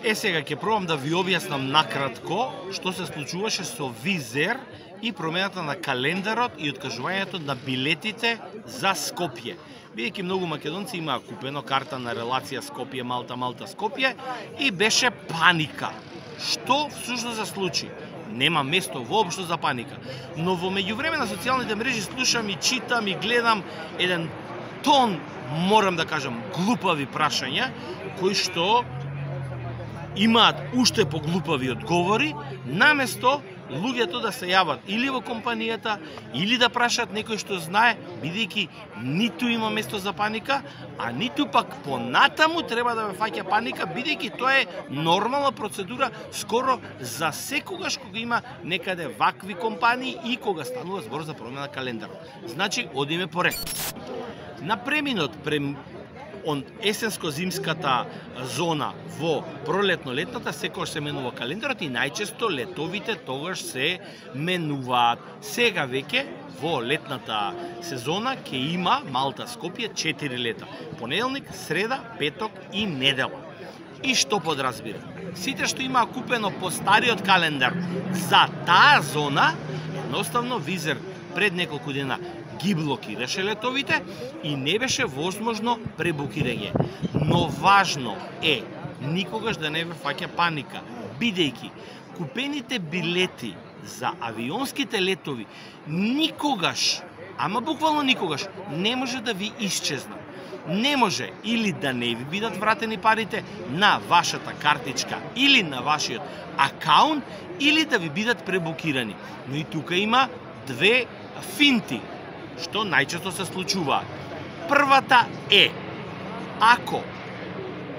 Сега ќе пробам да ви објаснам накратко што се случуваше со Визер и промената на календарот и откажувањето на билетите за Скопје. Бидејќи многу македонци имаа купено карта на релација Скопје, Малта, Малта, Скопје и беше паника. Што всушност се случи? Нема место воопшто за паника. Но во меѓувреме на социјалните мрежи слушам и читам и гледам еден тон, морам да кажам, глупави прашања, кои што имаат уште поглупави одговори, наместо луѓето да се јават или во компанијата, или да прашаат некој што знае, бидејќи ниту има место за паника, а ниту пак понатаму треба да ве фаќа паника, бидејќи тоа е нормална процедура скоро за секогаш кога има некаде вакви компании и кога станува збор за промена на календарот. Значи, одиме поред. На преминот од есенско-зимската зона во пролетно-летната секогаш се менува календарот и најчесто летовите тогаш се менуваат. Сега веќе во летната сезона ќе има Малта Скопје 4 лета. Понеделник, среда, петок и недела. И што подразбира? Сите што имаа купено по стариот календар за таа зона, едноставно Визер пред неколку дена ги блокираше летовите и не беше возможно пребукирање. Но важно е никогаш да не ве фаќа паника, бидејќи купените билети за авионските летови никогаш, ама буквално никогаш, не може да ви исчезнат. Не може или да не ви бидат вратени парите на вашата картичка или на вашиот акаунт, или да ви бидат пребукирани. Но и тука има две финти, што најчесто се случуваат. Првата е, ако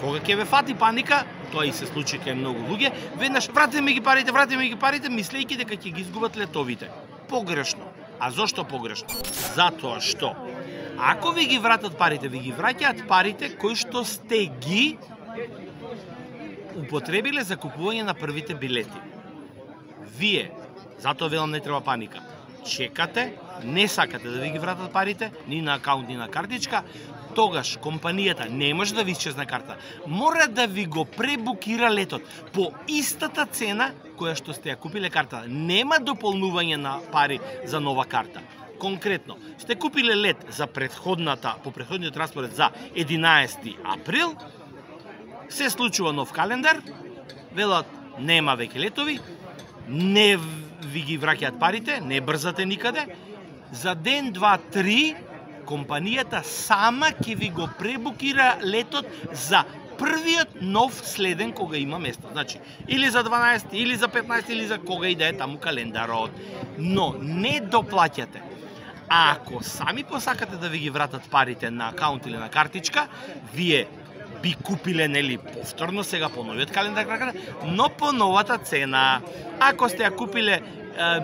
кога ќе ве фати паника, тоа и се случи кај многу луѓе, веднаш вратете ми ги парите, мислејќи дека ќе ги изгубат летовите. Погрешно. А зошто погрешно? Затоа што ако ви ги вратат парите, ви ги враќаат парите кои што сте ги употребиле за купување на првите билети. Вие, затоа велам не треба паника, чекате, не сакате да ви ги вратат парите, ни на акаунт, ни на картичка, тогаш компанијата не може да ви исчезне карта. Мора да ви го пребукира летот по истата цена која што сте ја купиле карта. Нема дополнување на пари за нова карта. Конкретно, сте купиле лет за по претходниот распоред за 11 април, се случува нов календар, велат нема веќе летови, не ви ги враќаат парите, не брзате никаде, за ден, два, три, компанијата сама ќе ви го пребукира летот за првиот нов следен кога има место. Значи, или за 12, или за 15, или за кога и да е таму календарот. Но не доплаќате. А ако сами посакате да ви ги вратат парите на акаунт или на картичка, вие би купиле, нели, повторно сега по новиот календар, но по новата цена. Ако сте ја купиле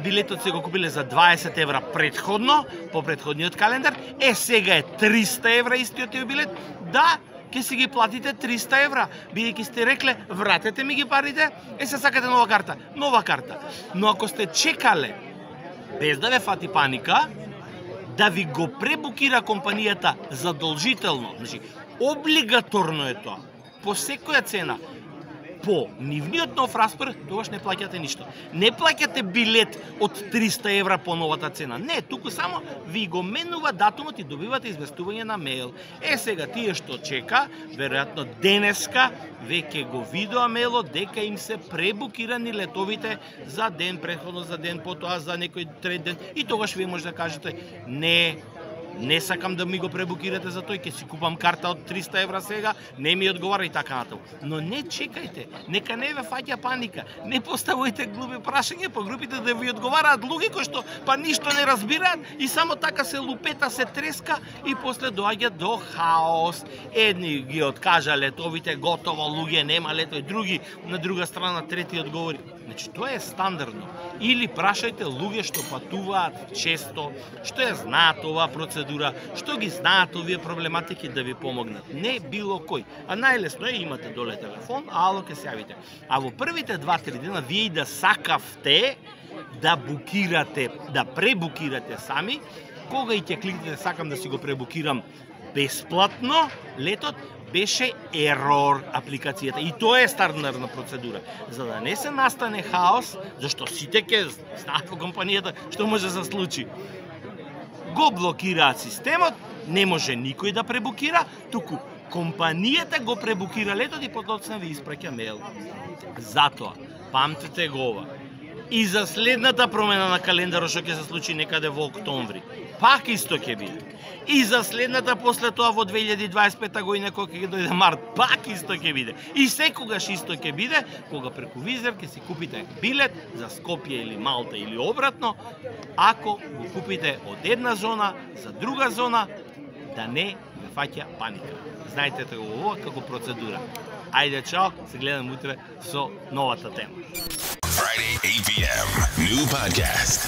билетот, се го купиле за 20 евра предходно, по предходниот календар, сега е 300 евра истиот тој билет, да, ќе си ги платите 300 евра, бидејќи сте рекле, вратете ми ги парите, се сакате нова карта. Но ако сте чекале, без да ве фати паника, да ви го пребукира компанијата задолжително, значи, облигаторно е тоа, по секоја цена, по нивниот нов распоред, тогаш не плаќате ништо. Не плаќате билет од 300 евра по новата цена. Не, туку само ви го менува датумот и добивате известување на мејл. Сега тие што чека, веројатно денеска веќе го видоа мејлот дека им се пребукирани летовите за ден претходно, за ден потоа, за некој трет ден, и тогаш вие може да кажете не сакам да ми го пребукирате за тој, ќе си купам карта од 300 евра сега, не ми одговара и така натаму. Но не чекајте, нека не ве фаќа паника, не поставувајте глупи прашања по групите да ви одговараат луѓе кои што па ништо не разбираат и само така се лупета, се треска и после доаѓа до хаос. Едни ги откажа летовите, готово, луѓе нема летови, други на друга страна трети одговори. Значи, тоа е стандардно. Или прашајте луѓе што патуваат често, што ја знаат оваа процедура, што ги знаат овие проблематики да ви помогнат. Не било кој. А најлесно е, имате доле телефон, ало, ке се јавите. А во првите 2-3 дена вие и да сакавте да букирате, да пребукирате сами, кога и ќе кликнете сакам да си го пребукирам бесплатно летот, беше ерор апликацијата и тоа е стандардна процедура. За да не се настане хаос, зашто сите ќе знаат во компанијата што може да се случи. Го блокираат системот, не може никој да пребукира, туку компанијата го пребукира летот и потоцна ви испраќа мејл. Затоа, памтете го ова. И за следната промена на календарот што ќе се случи некаде во октомври, пак исто ќе биде. И за следната после тоа во 2025 година кога ќе дојде март, пак исто ќе биде. И секогаш исто ќе биде кога преку Визер ќе си купите билет за Скопје или Малта или обратно, ако го купите од една зона за друга зона, да не ве фаќа паника. Знаете го ова како процедура. Ајде, чао, се гледам утре со новата тема. Friday, 8 p.m. New podcast.